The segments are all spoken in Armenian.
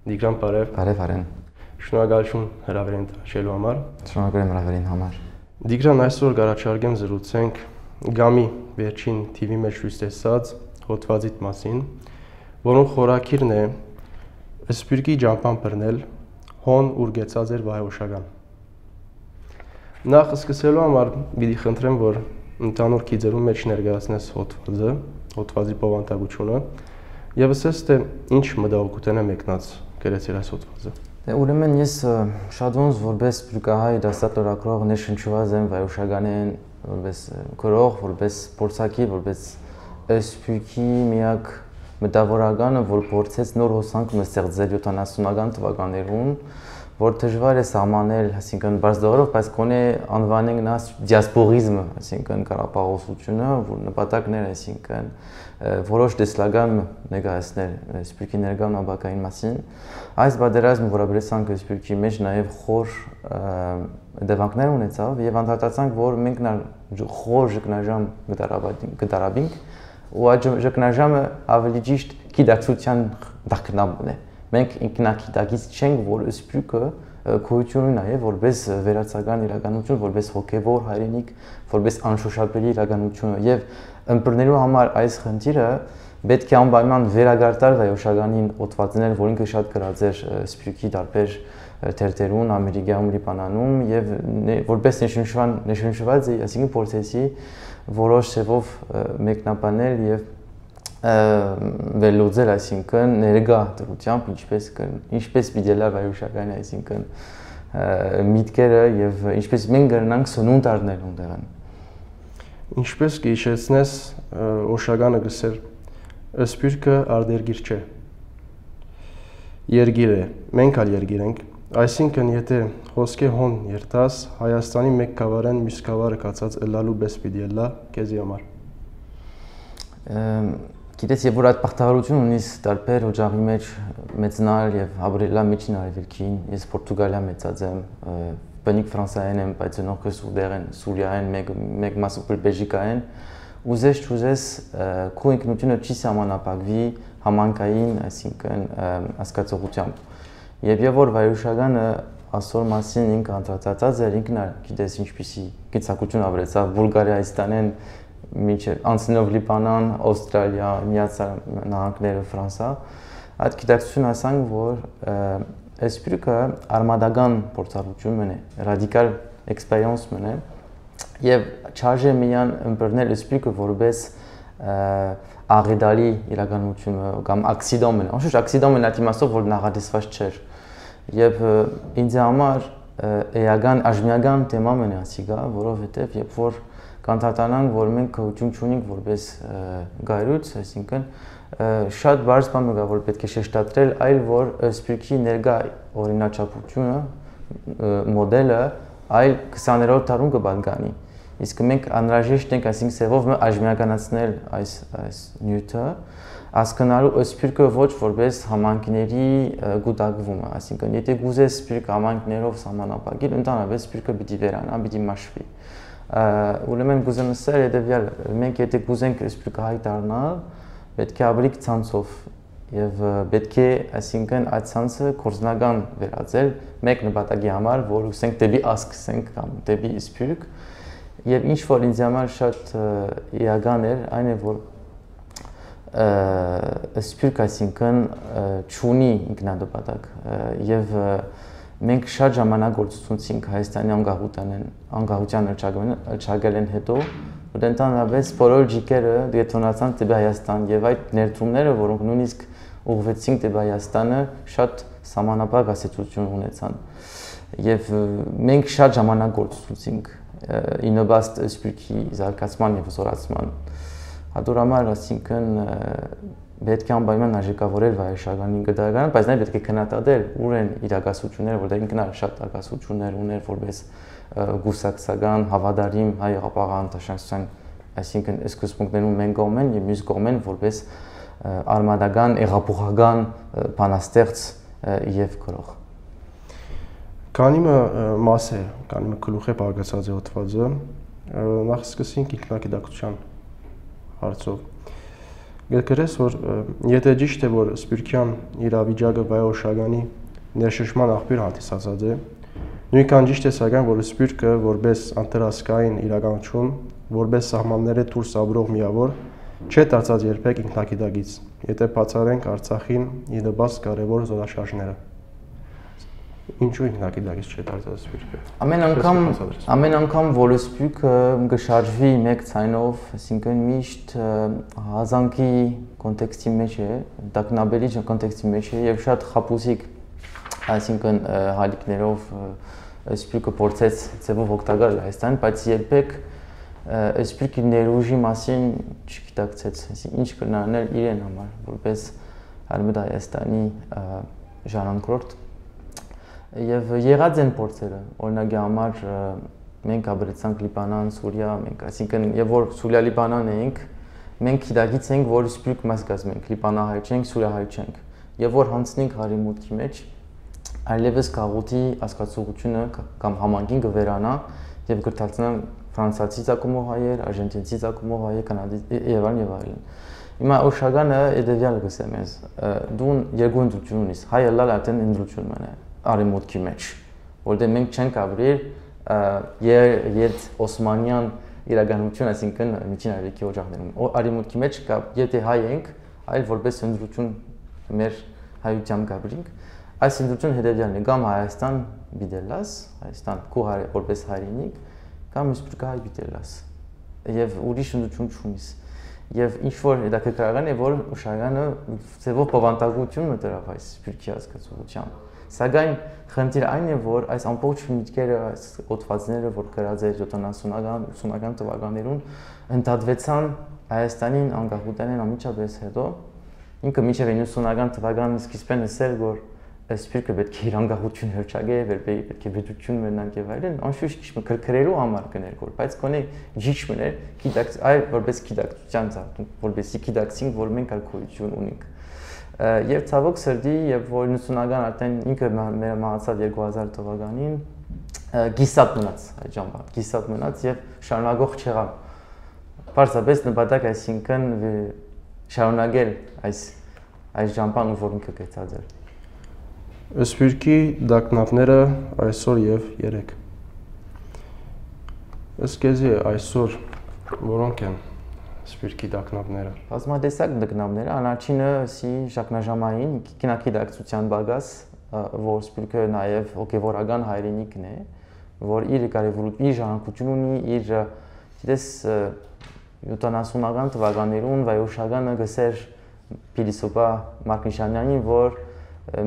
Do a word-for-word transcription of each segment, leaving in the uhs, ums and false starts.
Դիգրան բարև։ Բարև Արեն։ Շնորհակալություն հրավերին տաշելու համար։ Շնորհակալ եմ հրավերին համար։ Դիգրան, այսօր կառաջարկեմ զրուցենք Գամի վերջին թիվի մեջ ցույց տեսած հոդվածիդ մասին, որոնց խորակիրն է Սպիրկի ջամփան բռնել հոն ուրգեցած էր վայոշական։ Նախ սկսելու համար պիտի խնդրեմ, որ ընդհանուր քիծերու մեջ ներկայացնես հոդվածը, հոդվածի բովանդակությունը եւ ասես թե ինչ մտահոգություն է մեկնած գրեցիր այս հոդվածը։ Դե ուրեմն ես շատ ոնց որպես սպիրկահայ դասատորակրող ներշնչված եմ վայոշականեն, որպես քրող, որպես փորձակի, որպես սպիրկի միակ մտավորականը, որ փորձեց նոր հոսանք մստեղծել յոթանասունական թվականներուն, որ դժվար է սահմանել, այսինքն բարձ դողերով, բայց կոնե անվանենք նա դիասպորիզմը, այսինքն կարապաղոսությունը, որ նպատակն էր, այսինքն որոշ տեսլական ներկայացնել սպիրկի ներկայ նամակային մասին։ Այս պատերազմը որաբերեցանք սպիրկի մեջ նաև խոր դեպքեր ունեցավ եւ անդրադարձանք, որ մենք խոր ճգնաժամ գտարաբինք ու այդ ճգնաժամը ավելի ճիշտ գիտակցության դակնաբն է։ Մենք ինքնակիտակից չենք, որ սպիրկը գոյություն ունի նաև որպես վերացական իրականություն, որպես հոգևոր հայրենիք, որպես անշոշափելի իրականություն եւ ըմբռնելու համար այս խնդիրը պետք է անպայման վերագարտար վայոշականին օտվածնել, որ ինքը շատ գրած էր սպիրկի տարբեր թերթերուն, Ամերիկայում, Լիբանանում եւ որպես նշնշվան նշնշված է, այսինքն փորձեցի որոշ ձևով մեկնաբանել եւ վերլուծել, այսինքն ներկա դրությամբ ինչպես ինչպես պիտի վայոշական, այսինքն միտքերը եւ ինչպես մենք կրնանք սնունդ առնել ունդեղան։ Ինչպես կհիշեցնես, օշականը գսեր սպիրկը արտերգիր չէ։ Երգիր է, մենք ալ երգիր ենք, այսինքն եթե հոսքե հոն երթաս, Հայաստանի մեկ գավառեն մյուս գավառը կացած ըլլալու պես պիտի ըլլա քեզի համար։ Գիտես, եւ որ այդ բախտավորությունը ունիս տարբեր օջախի մեջ մեծնալ եւ ապրելա միջին արևելքին, ես Պորտուգալիա մեծած եմ, բնիկ ֆրանսիայեն եմ, բայց նոքը սուրդերեն, սուրիայեն, մեկ մեկ մասը բելգիկայեն, ուզես չուզես քո ինքնությունը չի սահմանափակվի համանքային, այսինքն հասկացողությամբ։ Եվ եւ որ վայոշականը ասոր մասին ինքը անդրադարձած էր, ինքն գիտես ինչպիսի գիծակություն ավրեցավ Բուլղարիայստանեն մինչև անցնելով Լիբանան, Ավստրալիա, Միացյալ Նահանգները, Ֆրանսա, այդ գիտակցություն ասանք, որ սպիրկը արմադական փորձառություն մնե, ռադիկալ էքսպերիենս մնե, եւ չարժե միան ըմբռնել սպիրկը որպես աղետալի իրականություն կամ ակսիդոմ մնե։ Անշուշտ ակսիդոմը նա իմաստով որ նախատեսված չէր։ Եվ ինձ համար էական աժմիական թեմա մնա ասիգա, որովհետեւ երբ որ կանթատանանք, որ մենք գոյություն չունենք որպես գայրույց, այսինքն շատ բարձ բան կա, որ պետք է շեշտադրել, այլ որ սպիրկի ներկա օրինաչափությունը, մոդելը այլ քսաներորդ դարում կպատկանի։ Իսկ մենք անհրաժեշտ ենք, այսինքն սևով աժմիականացնել այս այս նյութը, հասկանալու սպիրկը ոչ որպես համայնքների գուտակվումը, այսինքն եթե գուզես սպիրկը համայնքներով սահմանափակել, ընդհանրապես սպիրկը պիտի վերանա, պիտի մաշվի։ Ուրեմն գուզեմ ասել հետևյալ, մենք եթե գուզենք սպիրկահայ դառնալ, պետք է ավելի ցանցով եւ պետք է, այսինքն այդ ցանցը կորզնական վերածել մեկ նպատակի համար, որ ուսենք դեպի ասկսենք կամ դեպի սպիրկ եւ ինչ որ ինձ համար շատ իական էր, այն է որ սպիրկ այսինքն չունի ինքնանպատակ եւ մենք շատ ժամանակ գործունեությունք Հայաստանի անկախությանն անկախության հռչակելեն հետո, որ ընդհանրապես բոլոր ջիկերը դետոնացան դեպի Հայաստան եւ այդ ներդրումները, որոնք նույնիսկ ուղղվեցին դեպի Հայաստանը, շատ սահմանափակ ասացություն ունեցան։ Եվ մենք շատ ժամանակ գործունեությունք ինովաստ սպիրկի զարգացման եւ զորացման։ Հատորամար, այսինքն պետք է անպայման արժեքավորել վայոշականին գդարանը, բայց նաև պետք է քննադատել ուր են իրագասությունները, որտեղ ինքն էլ շատ ագասություններ ուներ որպես գուսակցական, հավատարիմ հայ աղապաղան տաշնակցության, այսինքն սկզբունքներում մենք կողմեն եւ մյուս կողմեն որպես արմադական, եղափոխական բանաստեղծ եւ գրող։ Քանիմը մաս է, քանիմը գլուխ է բաղկացած է հոդվածը, նախ սկսենք ինքնակիտակցության հարցով։ գրես, որ եթե ճիշտ է, որ Սպիրկյան իրավիճակը Վայոշագանի ներշնչման աղբյուր հանդիսացած է, նույնքան ճիշտ է սակայն, որ Սպիրկը որպես անտարասկային իրականություն, որպես սահմանները դուրս ապրող միավոր, չէ դարձած երբեք ինքնակիդագից, եթե բացառենք Արցախին ի նպաստ կարևոր զորաշարժները։ Ինչու ինքնակիդագից չէ դարձած Սպիրկը։ Ամեն անգամ ամեն անգամ որ Սպիրկը կշարժվի մեկ ցայնով, այսինքն միշտ հազանգի կոնտեքստի մեջ է, տակնաբերի կոնտեքստի մեջ է եւ շատ խապուսիկ, այսինքն հալիկներով Սպիրկը փորձեց ձևով օգտագործել Հայաստան, բայց երբեք Սպիրկի ներուժի մասին չգիտակցեց, այսինքն ինչ կնանել իրեն համար, որպես Արմեդ Հայաստանի ժառանգորդ։ Եվ եղած են փորձերը, օրինակի համար մենք ապրեցանք Լիբանան, Սուրիա, մենք, այսինքն եւ որ Սուրիա Լիբանան էինք, մենք գիտակից ենք, որ Սպիրկ մաս կազմենք, Լիբանահայ չենք, Սուրիահայ չենք։ Եվ որ հանցնենք հարիմուտքի մեջ, այլևս գաղութի հասկացողությունը կամ համանգին կվերանա եւ կդարձնան ֆրանսիացի ցակումով հայեր, արժենտինցի ցակումով հայեր, կանադի եւ այլն եւ այլն։ Հիմա Օշագանը եդեվյալը գսեմ ես, դու երկու ընդրություն ունիս, հայը լալ արդեն ընդրություն մնա արիմուտքի մեջ, որտեղ մենք չենք ապրել երդ Օսմանյան իրականություն, այսինքն միջին արևելքի օջախներում։ Արիմուտքի մեջ կա, եթե հայ ենք, այլ որպես ընդրություն մեր հայությամբ կապրինք, այս ընդրությունը հետևյալն է, կամ Հայաստան բիդելաս, Հայաստան քո որպես հայրենիք, կամ Սպիրկահայ բիդելաս, եւ ուրիշ ընդրություն չունիս։ Եվ ինչ որ հետաքրքրական է, որ Օշագանը ձևով բավանդակություն մտավ այս Սպիրկի հասկացողությամբ։ Սակայն խնդիրը այն է, որ այս ամբողջ միտքերը, այս օդվածները, որ գրած է յոթանասունական ութսունական թվականներում, ընդհատվեցան Հայաստանին անկախությանեն անմիջապես հետո, ինքը մինչև իննսունական թվականին սկիզբեն ասել, որ Սպիրկը պետք է իր անկախություն հռչակե, պետք է պետություն մնանք եւ այլն, անշուշտ քիչ քրքրելու համար կներգոր, բայց կոնե ջիջ մներ, գիտակ, այլ որպես գիտակցության ծառայություն, որպեսզի գիտակցենք, որ մենք ալկոհոլություն ունենք։ Եվ ցավոք սրտի, եւ որ իննսունական արդեն ինքը մեր մահացավ երկու հազար թվականին գիսատ մնաց այդ ժամանակ, գիսատ մնաց եւ շարունակող չեղավ։ Պարզապես նպատակ, այսինքն շարունակել այս այս ժամանակ, որ ինքը գեցած էր։ Սպիրկի դակնապները այսօր եւ երեք։ Ըստ քեզի այսօր որոնք են Սպիրկի դակնապները։ Բազմատեսակ դակնապները, առաջինը սի շակնաժամային կինագիտակցության բագաս, որ Սպիրկը նաեւ հոգեվորական հայրենիքն է, որ իր կարևոր իր ժառանգություն ունի, իր գիտես յոթանասունական թվականներուն Վայոշագանը գսեր փիլիսոփա Մարկ Նիշանյանին, որ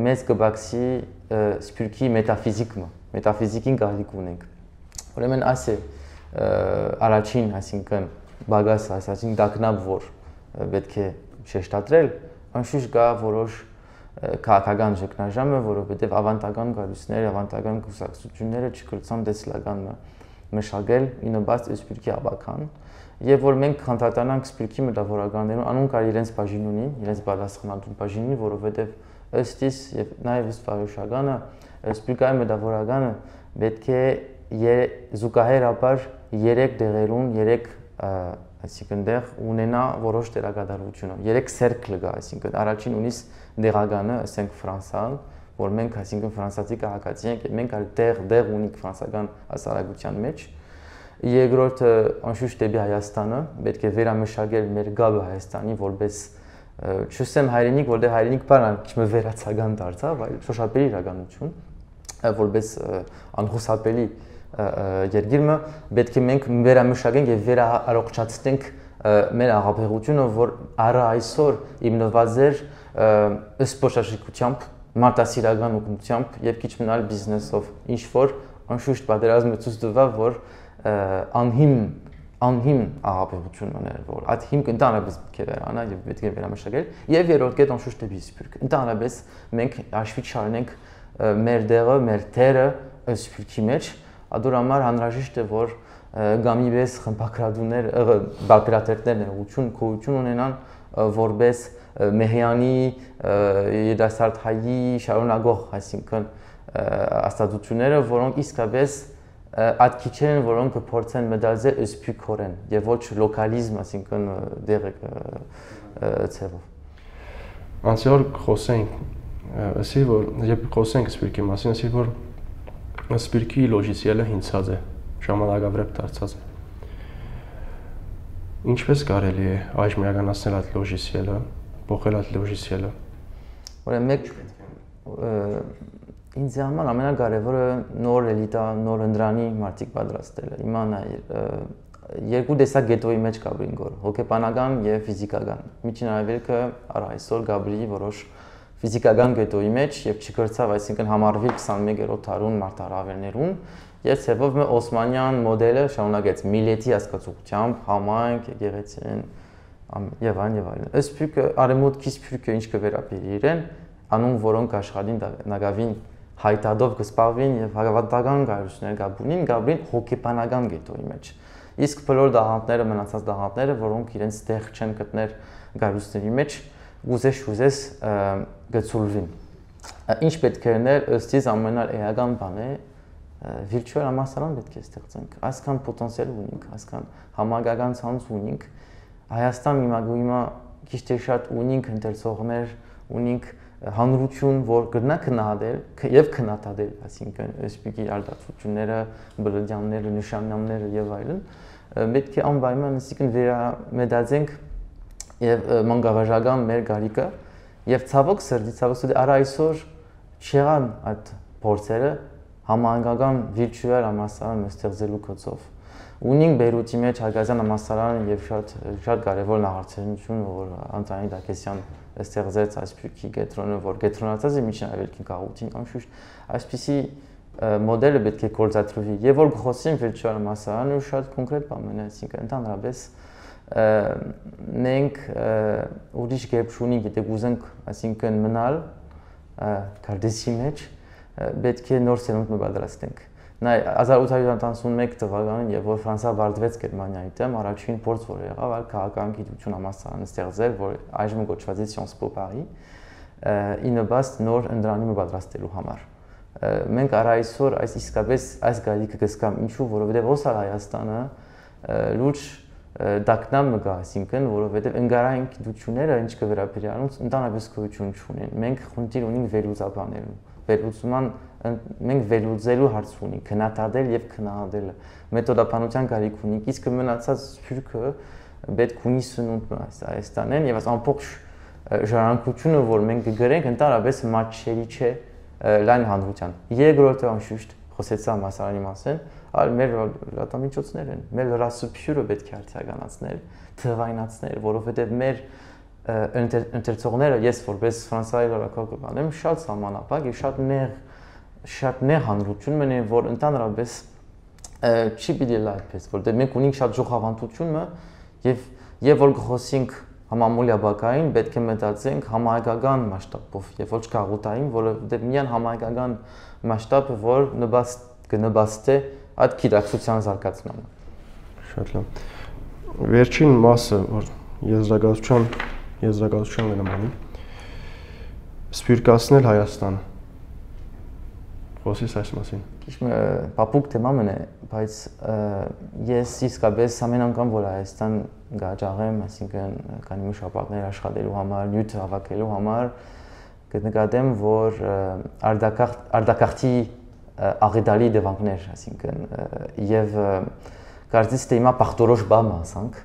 մեծ կբացի Սպիրկի մետաֆիզիկը, մետաֆիզիկին կարիք ունենք։ Ուրեմն այս է առաջին, այսինքն բագաս, այսինքն դակնապ, որ պետք է շեշտադրել, անշուշտ կա որոշ քաղաքական ճգնաժամը, որովհետև ավանդական գալուստները, ավանդական կուսակցությունները չկրցան դեսլական մշակել ի նպաստ Սպիրկի աբական, եւ որ մենք քանդատանանք Սպիրկի մտավորականներուն, անուն կար իրենց բաժին ունի, իրենց պատասխանատու բաժին ունի, որովհետև ըստ իս եւ նաեւ ըստ Վայոշագանը Սպիրկայի մտավորականը պետք է զուգահեռաբար երեք դեղերուն, երեք այսինքն դեղ ունենա որոշ դերակատարությունը, երեք սերկլ կա, այսինքն առաջին ունիս դեղականը, ասենք Ֆրանսան, որ մենք այսինքն ֆրանսիացի քաղաքացի ենք, մենք այլ դեղ դեղ ունենք ֆրանսական հասարակության մեջ։ Երկրորդը անշուշտ դեպի Հայաստանը, պետք է վերամշակել մեր գաբը Հայաստանի որպես չուսեմ հայրենիք, որտեղ հայրենիք բառը քիչ վերացական դարձավ, այլ շոշափելի իրականություն, որպես անխուսափելի երկիրը պետք է մենք վերամշակենք եւ վերառողջացնենք մեր աղաբեղությունը, որ առ այսօր հիմնված էր սպորտաշրջիկությամբ, մարտահրավերական օգնությամբ եւ քիչ մնալ բիզնեսով, ինչ որ անշուշտ պատերազմը ցույց տվավ, որ անհիմ անհիմ աղաբեղություն ուներ, որ այդ հիմքը ընդհանրապես պետք է վերանա եւ պետք է վերամշակել եւ երրորդ կետ անշուշտ դեպի Սպիրկը։ Ընդհանրապես մենք հաշվի չառնենք մեր դեղը, մեր թերը Սպիրկի մեջ, ադուր համար անհրաժեշտ է որ գամիվես խմբակրատուներ, բակրատերներ ներողություն, գոյություն ունենան որպես Մեհյանի երդասարտհայի շարունակող, այսինքն աստածությունները, որոնք իսկապես այդ քիչերն, որոնք կփորձեն մտածել սպյուրքորեն եւ ոչ լոկալիզմ, այսինքն դեղ ցևով։ Անցյալ խոսենք, ասի որ երբ խոսենք Սպիրկի մասին, ասի որ Սպիրկի լոժիսիելը հինցած է, ժամանակավրեպ դարձած է։ Ինչպես կարելի է այժմ իրականացնել այդ լոժիսիելը, փոխել այդ լոժիսիելը։ Ուրեմն մեկ ինձ համար ամենակարևորը նոր էլիտա, նոր ընդրանի մարդիկ պատրաստելը։ Հիմա երկու տեսակ գետոյի մեջ կա բրինգոր, հոգեբանական եւ ֆիզիկական։ Միջին արևելքը առ այսօր Գաբրիի որոշ ֆիզիկական գետոյի մեջ եւ չկրծավ, այսինքն համարվի քսանմեկերորդ դարուն մարտահրավերներուն, եւ ցեվով մը օսմանյան մոդելը շարունակեց միլետի հասկացությամբ, համայնք, եկեղեցին եւ այն եւ այլն։ Ըստ փյուկը արեմուտքի փյուկը ինչ կվերապերի իրեն, անուն որոնք աշխատին նագավին հայտադով կսպարվին եւ հավատական գայություններ գաբունին, գաբրին հոգեբանական գետոյի մեջ։ Իսկ բոլոր դահանտները, մնացած դահանտները, որոնք իրենց տեղ չեն գտներ գայությունների մեջ, ուզես ուզես գծուլվին։ Ինչ պետք է ներ ըստ իս ամենաէական բանը virtual համալսարան պետք է ստեղծենք։ Այսքան պոտենցիալ ունենք, այսքան համագական ցանց ունենք։ Հայաստան հիմա հիմա քիչ թե շատ ունենք ընթերցողներ, ունենք հանրություն, որ կգնա քննադել եւ քննադատել, այսինքն սպիկի արտադրությունները, բլոդյանները, նշանները եւ այլն, պետք է անպայման այսինքն վերամետածենք եւ մանկավարժական մեր գարիկը եւ ցավոք սրտի ցավոք սրտի առ այսօր չեղան այդ փորձերը համահանգական virtual համալսարան ստեղծելու կոչով։ Ունենք Բեյրութի մեջ Հարգազյան համալսարանը եւ շատ շատ կարեւոր նախարարություն, որ Անտոնի Դակեսյան ստեղծեց այսպիսի կենտրոնը, որ կենտրոնացած է միջին արևելքի գաղութին, անշուշտ այսպիսի մոդելը պետք է գործադրվի եւ որ խոսենք virtual համալսարանը շատ կոնկրետ բան է, այսինքն ընդհանրապես մենք ուրիշ կերպ չունենք, եթե ուզենք, այսինքն մնալ կարդեսի մեջ, պետք է նոր սերունդ պատրաստենք։ Նա հազար ութ հարյուր տասնմեկ թվականին, երբ որ Ֆրանսիա վարտվեց Գերմանիայի դեմ, առաջին փորձ որ եղավ, այլ քաղաքական գիտություն համալսարան ստեղծել, որ այժմ կոչված է Sciences Po Paris, ի նպաստ նոր ընդրանի պատրաստելու համար։ Մենք առ այսօր այս իսկապես այս գալիքը կսկամ ինչու, որովհետև ոսալ Հայաստանը լուրջ դակնամ մգա, այսինքն, որովհետև ընկերային գիտությունները ինչ կվերապերյալում ընդհանրապես գոյություն չունեն։ Մենք խնդիր ունենք վերլուծաբաներում, վերլուծման մենք վերլուծելու հարց ունենք, քննադատել եւ քննադատելը, մեթոդաբանության կարիք ունենք, իսկ մնացած սփյուռքը պետք ունի սնունդ Հայաստանեն եւ այս ամբողջ ժառանգությունը, որ մենք կգրենք, ընդհանրապես մատչերի չէ լայն հանրության։ Երկրորդը անշուշտ խոսեցա համալսարանի մասին, այլ մեր լրատվամիջոցներ են, մեր լրասփյուռը պետք է արդիականացնել, թվայնացնել, որովհետեւ մեր ընթերցողները, ես որպես Ֆրանսիայի լրագրող կանեմ, շատ սահմանափակ եւ շատ նեղ շատ նեղ հանրություն մնա, որ ընդհանրապես չի պիտի լա այդպես, որտեղ մենք ունենք շատ ժողովանդությունը եւ եւ որ խոսենք համամոլյա բակային, պետք է մտածենք համահայկական մասշտաբով եւ ոչ քաղաքային, որովհետեւ միան համահայկական մասշտաբը, որ նպաստ կնպաստի այդ գիտակցության զարգացմանը։ Շատ լավ։ Վերջին մասը, որ եզրակացության եզրակացության նմանի սպիրկացնել Հայաստանը։ Խոսես այս մասին։ Քիչ փափուկ թեմա մնա, բայց ես իսկապես ամեն անգամ որ Հայաստան գաճաղեմ, այսինքն կանի շաբաթներ աշխատելու համար, նյութ հավաքելու համար, կնկատեմ, որ արդակախտի աղետալի դեպքեր, այսինքն եւ կարծես թե հիմա բախտորոշ բամ ասանք,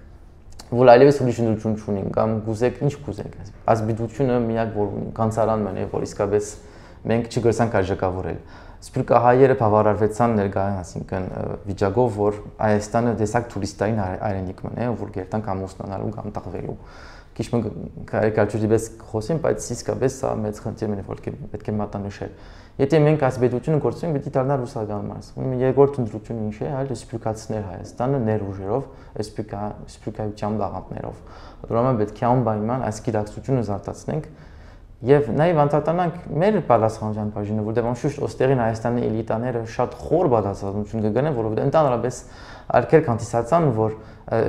որ այլևս ուրիշ ընդություն չունենք, կամ գուզեք ինչ գուզենք, ազգությունը միակ որ ունենք, կանցարան մնա, որ իսկապես մենք չգրսանք արժեքավորել։ Սպիրկահայերը բավարարվեցան ներկայացան, այսինքն վիճակով, որ Հայաստանը տեսակ տուրիստային այրենիք մնա, որ գերտանք ամուսնանալու կամ տաղվելու։ Քիչ կարիկատուրի պես խոսեմ, բայց իսկապես սա մեծ խնդիր է, որ պետք է մատնանշել։ Եթե մենք այս պետությունը գործենք, պետք է դառնա ռուսական մաս։ Ուրեմն երկրորդ ընդրությունը ինչ է, այլ սպիրկացնել Հայաստանը ներուժերով, սպիրկայության դաղանտներով։ Ուրեմն պետք է անպայման այս գիտակցությունը զարգացնենք եւ նաեւ անդրադառնանք մեր պատասխանատվության բաժինը, որտեղ անշուշտ ոստերին Հայաստանի էլիտաները շատ խոր պատասխանատվություն կգնեն, որովհետեւ ընդհանրապես արկեր կանտիսացան, որ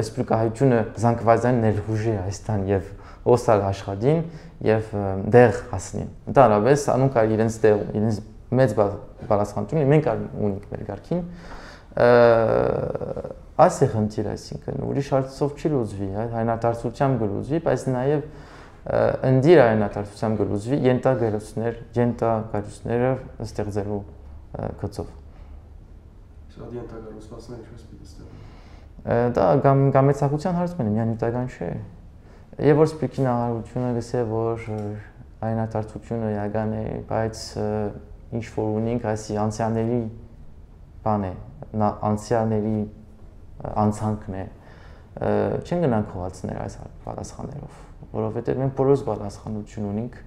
սպիրկահայությունը զանգվածային ներուժի Հայաստան եւ օսալ աշխատին եւ դեղ հասնին։ Ընդհանրապես անուն կար իրենց դեղ, իրենց մեծ պատասխանատվություն մենք ունենք մեր ղարքին։ Այս է խնդիրը, այսինքն ուրիշ հարցով չի լուծվի, հայրենադարձությամբ կլուծվի, բայց նաև ընդիր հայրենադարձությամբ կլուծվի ենթագերություններ, ենթագարությունները ստեղծելու գծով։ Սա ենթագարուցվածքները ինչպես պիտի ստեղծվի։ Դա գամեցակցության հարց մնի, միայն նյութական չէ։ Եվ որ սպիրկի նախարարությունը գսե, որ հայրենադարձությունը իրական է, բայց ինչ որ ունենք այսի անցյալների բան է, անցյալների անցանքն է, չեն գնանք խոհացնել այս պատասխաններով, որովհետև մենք բոլորս պատասխանություն ունենք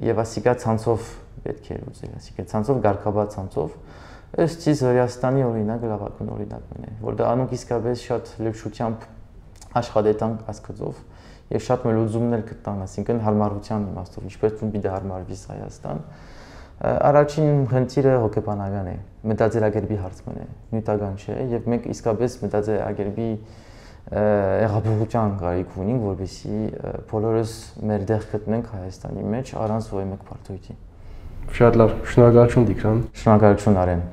եւ ասիկա ցանցով պետք է լուծել, ասիկա ցանցով գարկաբաց ցանցով, ըստ իս Հրեաստանի օրինակ լավագույն օրինակն է, որ դա անոնք իսկապես շատ լեփշությամբ աշխատեցան ասկծով եւ շատ մելուզումներ գտան, ասինքն հարմարության իմաստով, ինչպես ում պիտի հարմարվի Հայաստան։ Առաջին խնդիրը հոգեբանական է, մտածելակերպի հարցն է, նյութական չէ, եւ մենք իսկապես մտածելակերպի եղաբողության կարիք ունենք, որովհետեւ բոլորս մեր դեղ գտնենք Հայաստանի մեջ առանց ոչ մեկ բարդույթի։ Շատ լավ, շնորհակալություն Տիգրան։ Շնորհակալություն Արեն։